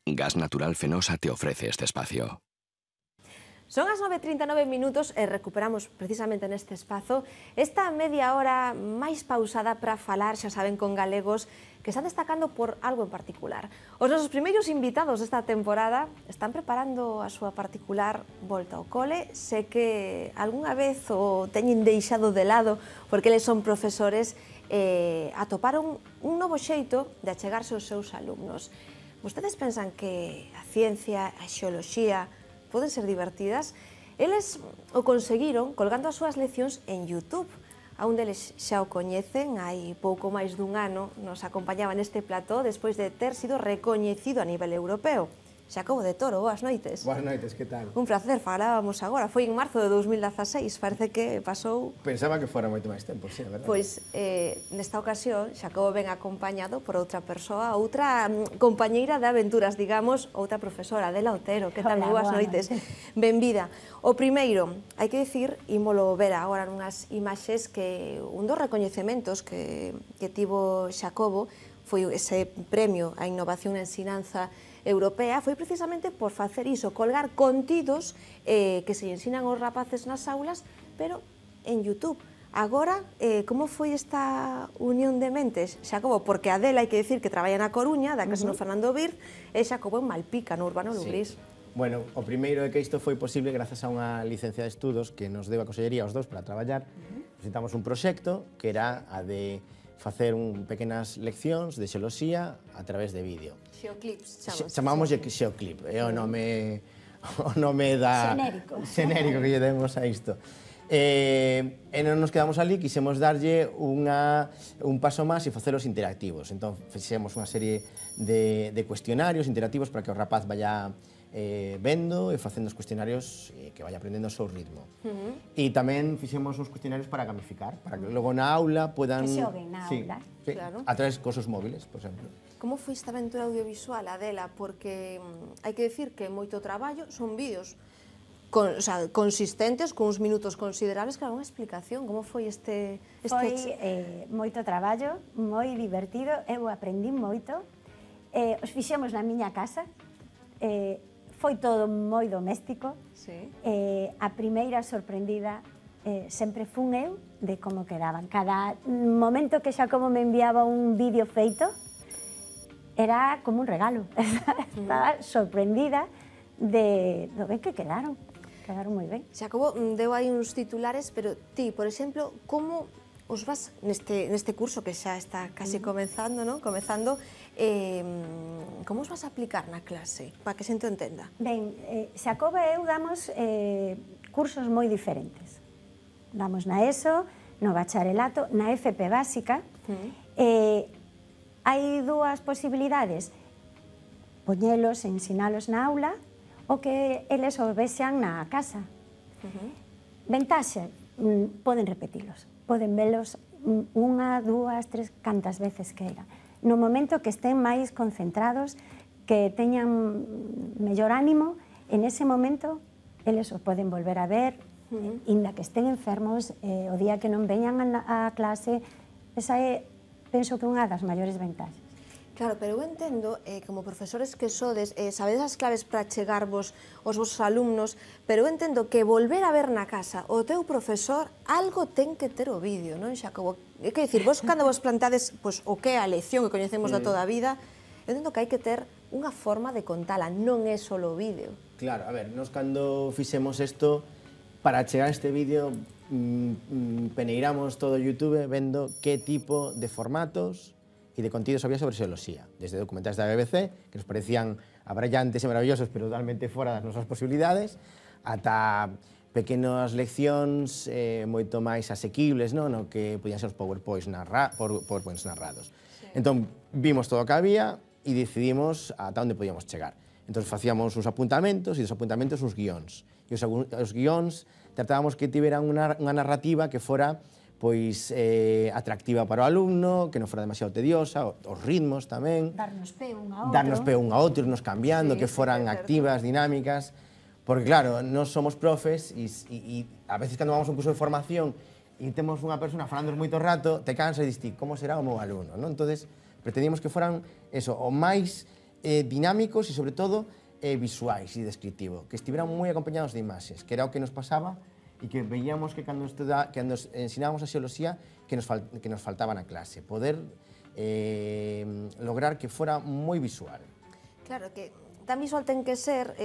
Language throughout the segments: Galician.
Gas Natural Fenosa te ofrece este espacio. Son as 9:39 minutos e recuperamos precisamente neste espazo esta media hora máis pausada para falar, xa saben, con galegos que están destacando por algo en particular. Os nosos primeiros invitados desta temporada están preparando a súa particular volta ao cole. Sé que algunha vez o teñen deixado de lado porque eles son profesores e atoparon un novo xeito de achegarse aos seus alumnos. Vostedes pensan que a ciencia, a xeoloxía poden ser divertidas? Eles o conseguiron colgando as súas leccións en YouTube. A un deles xa o coñecen, hai pouco máis dun ano nos acompañaba neste plató despois de ter sido recoñecido a nivel europeo. Xacobo de Toro, boas noites. Boas noites, que tal? Un placer, falábamos agora, foi en marzo de 2016, parece que pasou... Pensaba que fora moito máis tempo, sí, a verdade. Pois, nesta ocasión, Xacobo ven acompañado por outra persoa, outra compañeira de aventuras, digamos, outra profesora, Adela Otero. Que tal? Boas noites. Benvida. O primeiro, hai que dicir, ímolo ver agora nunhas imaxes, que un dos recoñecementos que tivo Xacobo foi ese premio á innovación e ensinanza europea, foi precisamente por facer iso, colgar contidos que se ensinan aos rapaces nas aulas, pero en YouTube. Agora, como foi esta unión de mentes, Xacobo? Porque Adela, hai que dicir que traballa na Coruña, da casa no Fernando Vir, e Xacobo en Malpica, no Urbano Lugrís. Bueno, o primeiro é que isto foi posible grazas a unha licencia de estudos que nos deu a Consellería aos dous para traballar. Presentamos un proxecto que era a de facer pequenas leccións de xeoloxía a través de vídeo. Xeoclips, chamamos Xeoclip, é o nome da... Xenérico que lle demos a isto. E non nos quedamos ali, quixemos darlle un paso máis e facelos interactivos. Entón, fixemos unha serie de cuestionarios interactivos para que o rapaz vaya vendo e facendo os cuestionarios que vaya aprendendo o seu ritmo. E tamén fixemos uns cuestionarios para gamificar, para que logo na aula podan... Que xoguen na aula. Sí, a través de cosos móviles, por exemplo. Como foi esta aventura audiovisual, Adela? Porque hai que dicir que moito traballo, son vídeos consistentes, con uns minutos considerables, que era unha explicación. Como foi este... Foi moito traballo, moi divertido, eu aprendí moito. Os fixemos na miña casa, foi todo moi doméstico. A primeira sorprendida sempre fun eu de como quedaban. Cada momento que Xacobo me enviaba un vídeo feito era como un regalo. Estaba sorprendida do ben que quedaron. Quedaron moi ben. Xacobo deu aí uns titulares, pero ti, por exemplo, como os vas neste curso que xa está casi comezando, non? Como os vas a aplicar na clase, para que xente entenda? Ben, Xacobo e eu damos cursos moi diferentes. Damos na ESO, no bacharelato, na FP básica. Hai dúas posibilidades: poñelos, ensinalos na aula, ou que eles o vexan na casa. Ventaxe, poden repetilos, poden velos unha, dúas, tres, cantas veces queiran. No momento que estén máis concentrados, que teñan mellor ánimo, en ese momento eles o poden volver a ver, inda que estén enfermos, o día que non veñan a clase. Esa é, penso que unha das maiores ventaxes. Claro, pero eu entendo, como profesores que sodes, sabedes as claves para chegarvos aos vosos alumnos, pero eu entendo que volver a ver na casa o teu profesor, algo ten que ter o vídeo, non, Xacobo? É que dicir, vos cando vos plantades o que é a lección que coñecemos da toda a vida, eu entendo que hai que ter unha forma de contala, non é só o vídeo. Claro, a ver, nos cando fixemos isto, para chegar a este vídeo, peneiramos todo o YouTube vendo que tipo de formatos e de contidos había sobre xeoloxía, desde documentais da BBC, que nos parecían abrallantes e maravillosos, pero totalmente fora das nosas posibilidades, ata pequenas leccións moito máis asequibles, no que podían ser os PowerPoints narrados. Entón, vimos todo o que había e decidimos ata onde podíamos chegar. Entón, facíamos uns apuntamentos e dos apuntamentos uns guións. E os guións tratábamos que tiveran unha narrativa que fora atractiva para o alumno, que non fora demasiado tediosa, os ritmos tamén. Darnos pé un a outro. Darnos pé un a outro, irnos cambiando, que foran activas, dinámicas. Porque, claro, nós somos profes e a veces cando vamos a un curso de formación e temos unha persona falando moito rato, te cansa e dis ti, como será o meu alumno? Entón, pretendíamos que foran o máis dinámicos e, sobre todo, visuais e descriptivo, que estiveran moi acompañados de imaxes, que era o que nos pasaba e que veíamos que cando ensinábamos a xeoloxía que nos faltaba na clase, poder lograr que fora moi visual. Claro, que tan visual ten que ser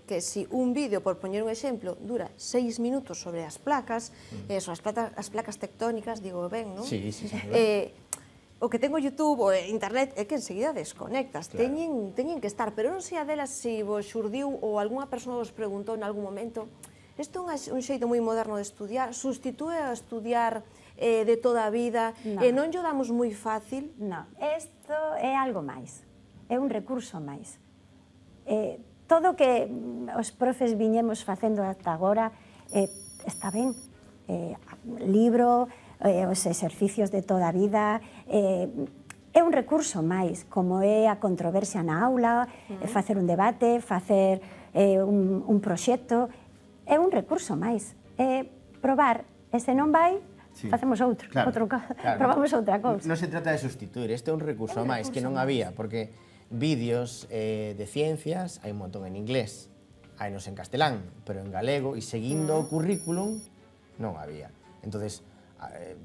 que si un vídeo, por poñer un exemplo, dura 6 minutos sobre as placas, sobre as placas tectónicas, digo ben, non? Sí, sí, sí. O que tengo YouTube ou internet é que enseguida desconectas, Claro. teñen que estar, pero non sei a delas se vos xurdiu ou algunha persoa vos preguntou en algún momento isto é un xeito moi moderno de estudiar, sustitúe a estudiar de toda a vida e non llo damos moi fácil? Non, isto é algo máis, é un recurso máis. Todo o que os profes viñemos facendo ata agora está ben, libro, os exercicios de toda a vida, é un recurso máis, como é a controversia na aula, facer un debate, facer un proxecto, é un recurso máis, é probar, e se non vai, facemos outro, probamos outra cousa. Non se trata de sustituir, este é un recurso máis que non había, porque vídeos de ciencias hai un montón en inglés, hainos en castelán, pero en galego, e seguindo o currículum non había. Entonces,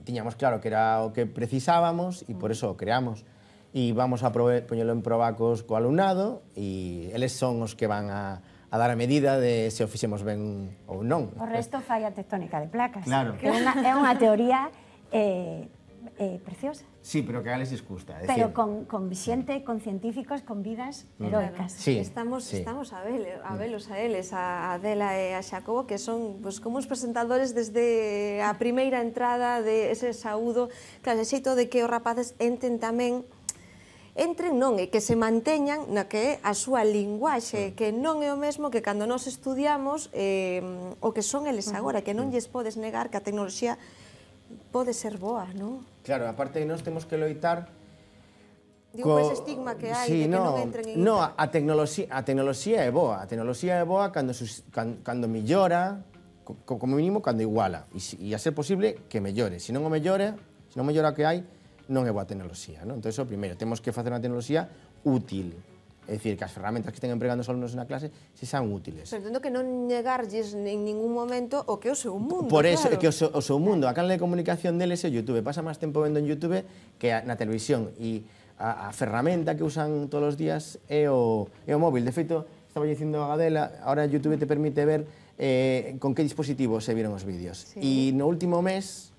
tiñamos claro que era o que precisábamos e por eso o creamos. E vamos a poñelo en probacos co alumnado e eles son os que van a dar a medida de se o fixemos ben ou non. O resto fai a tectónica de placas, Claro. que é unha teoría preciosa. Sí, pero que a eles les gusta. Pero con xente, con científicos, con vidas heroicas. Sí, Estamos sí. a velos a eles, a Adela e a Xacobo, que son como os presentadores desde a primeira entrada de ese saúdo, claro, ese xeito de que os rapaces entren non, e que se manteñan na que é a súa linguaxe, que non é o mesmo que cando nos estudiamos o que son eles agora, que non lles podes negar que a tecnoloxía pode ser boa, non? Claro, aparte nós temos que loitar Digo, ese estigma que hai de que non entren en... No, a tecnoloxía é boa. A tecnoloxía é boa cando mellora, como mínimo cando iguala. E a ser posible que mellore. Se non mellora o que hai, non é boa tecnoloxía. Entón, o primeiro, temos que facer unha tecnoloxía útil. É dicir, que as ferramentas que estén empregando os alumnos na clase se sean útiles. Pero entendo que non negarlles en ningún momento o que é o seu mundo, Por eso, claro. é que o seu mundo, a canal de comunicación deles é o YouTube. Pasa máis tempo vendo en YouTube que na televisión. E a ferramenta que usan todos os días é o móvil. De feito, estaba dicindo a Gadela, ahora YouTube te permite ver con que dispositivo se viron os vídeos. E no último mes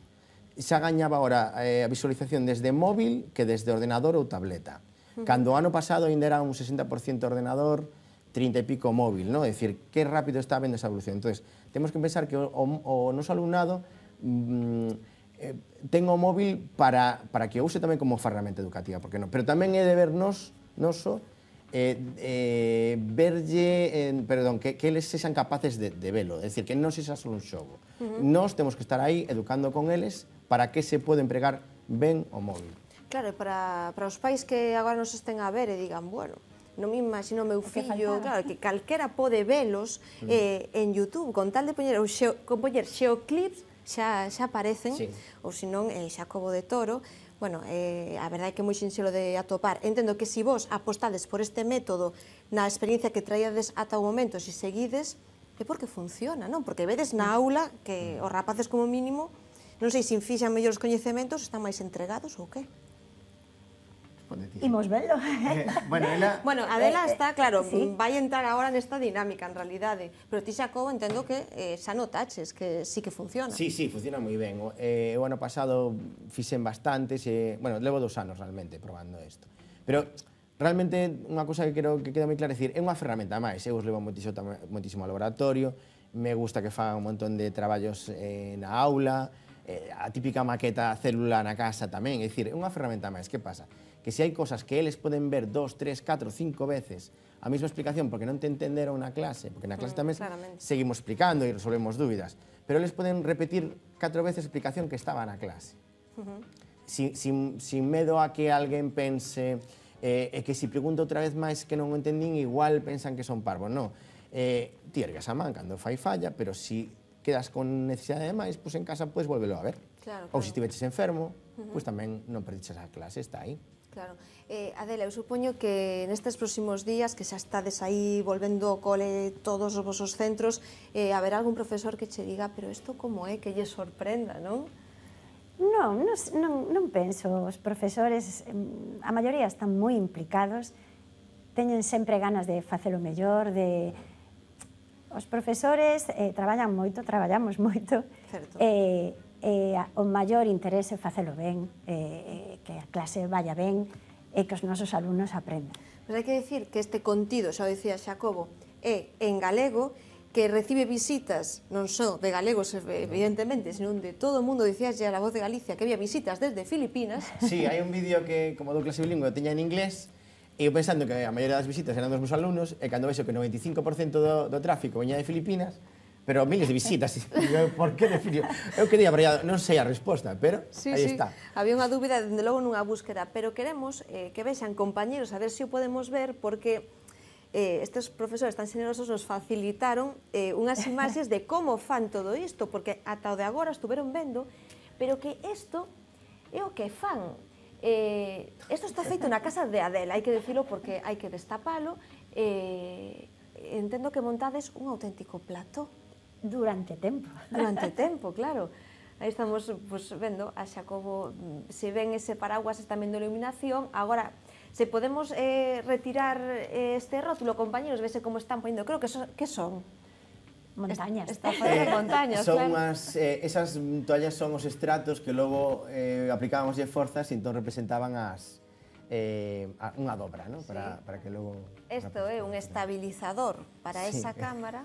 xa gañaba ahora a visualización desde móvil que desde ordenador ou tableta. Cando o ano pasado ainda era un 60% ordenador, 30 e pico móvil, non? É dicir, que rápido está vendo esa evolución. Entón, temos que pensar que o noso alumnado ten o móvil para que o use tamén como ferramenta educativa, porque non? Pero tamén é deber noso que eles sexan capaces de velo, é dicir, que non sexa só un xogo. Nós temos que estar aí educando con eles para que se pode empregar ben o móvil. Claro, para os pais que agora nos estén a ver e digan, bueno, non me imagino o meu fillo, claro, que calquera pode velos en YouTube, con tal de poñer xeoclips, xa aparecen, ou senón Xacobo de Toro. Bueno, a verdade é que é moi sinxelo de atopar. Entendo que se vos apostades por este método na experiencia que traíades ata o momento, se seguides, é porque funciona, non? Porque vedes na aula que os rapaces como mínimo, non sei se fixan mellor os coñecementos, están máis entregados ou que? Imos velo. Bueno, Adela está, claro, vai entrar agora nesta dinámica, en realidade. Pero ti, Xacobo, entendo que xa notaches que sí que funciona. Sí, funciona moi ben. O ano pasado fixen bastantes, levo 2 anos realmente probando isto. Pero realmente unha cousa que quero que queda moi clara, é dicir, é unha ferramenta máis. Eu os levo moitísimo ao laboratorio, me gusta que fagan un montón de traballos na aula, a típica maqueta célula na casa tamén, é dicir, é unha ferramenta máis. Que pasa? Que se hai cosas que eles poden ver 2, 3, 4, 5 veces a mesma explicación porque non te entenderon na clase, porque na clase tamén seguimos explicando e resolvemos dúbidas, pero eles poden repetir 4 veces a explicación que estaba na clase. Sin medo a que alguén pense que se pregunto outra vez máis que non o entendín, igual pensan que son parvos. Non. Ti ergas a man cando fai falla, pero se quedas con necesidade de máis, pois en casa podes volvelo a ver. Ou se estiveches enfermo, pois tamén non perdiches a clase, está aí. Claro. Adela, eu supoño que nestes próximos días, que xa estades aí volvendo ao cole todos os vosos centros, haberá algún profesor que che diga, pero isto como é, que lle sorprenda, non? Non penso. Os profesores, a maioría están moi implicados, teñen sempre ganas de facelo mellor, Os profesores traballan moito, traballamos moito, o maior interese é facelo ben, que a clase vaya ben e que os nosos alumnos aprendan. Mas hai que dicir que este contido, xa o dicía Xacobo, é en galego, que recibe visitas non só de galegos, evidentemente, sino de todo o mundo. Dicías ya a Voz de Galicia que había visitas desde Filipinas. Sí, hai un vídeo que, como do clase bilingüe, teña en inglés, e eu pensando que a maioría das visitas eran dos meus alumnos, e cando vexo que o 95% do tráfico veña de Filipinas, pero miles de visitas. Por que de Filipinas? Eu quería, pero non sei a resposta, pero aí está. Había unha dúbida, dende logo, nunha búsqueda, pero queremos que vexan compañeros, a ver se o podemos ver, porque estes profesores tan xenerosos nos facilitaron unhas imaxes de como fan todo isto, porque ata o de agora estuveron vendo, pero que isto é o que fan. Isto está feito na casa de Adela, hai que dicilo porque hai que destapalo. Entendo que montades un auténtico plato. Durante tempo. Durante tempo, claro. Aí estamos vendo a Xacobo, se ven ese paraguas, está vendo iluminación. Agora, se podemos retirar este rótulo, compañeros, vese como están poniendo. Creo que son montañas. Está facendo montañas, claro. Esas toallas son os estratos que logo aplicábamos de forzas e entón representaban unha dobra, para que logo... Isto é un estabilizador para esa cámara.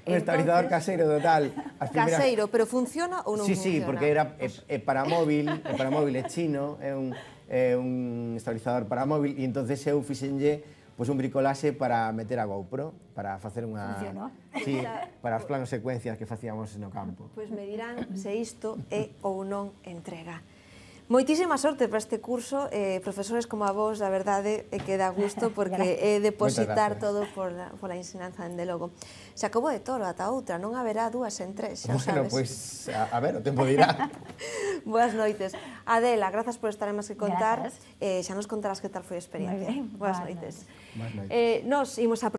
Un estabilizador caseiro total. Caseiro, pero funciona ou non funciona? Sí, porque é para móvil, é chino, é un estabilizador para móvil, e entonces eu fixenlle un bricolaxe para meter a GoPro, para facer unha... Funcionou? Sí, para os planos secuencias que facíamos no campo. Pois me dirán se isto é ou non entrega. Moitísima sorte para este curso, profesores como a vos, da verdade, que dá gusto, porque é depositar todo pola ensinanza, dende logo. Se acabou de Toro, ata outra, non haberá 2 en 3, xa sabes. Bueno, pois, a ver, o tempo dirá. Boas noites. Adela, grazas por estar en Más que Contar. Xa nos contarás que tal foi a experiencia. Moi ben. Boas noites. Boas noites. Nos imos a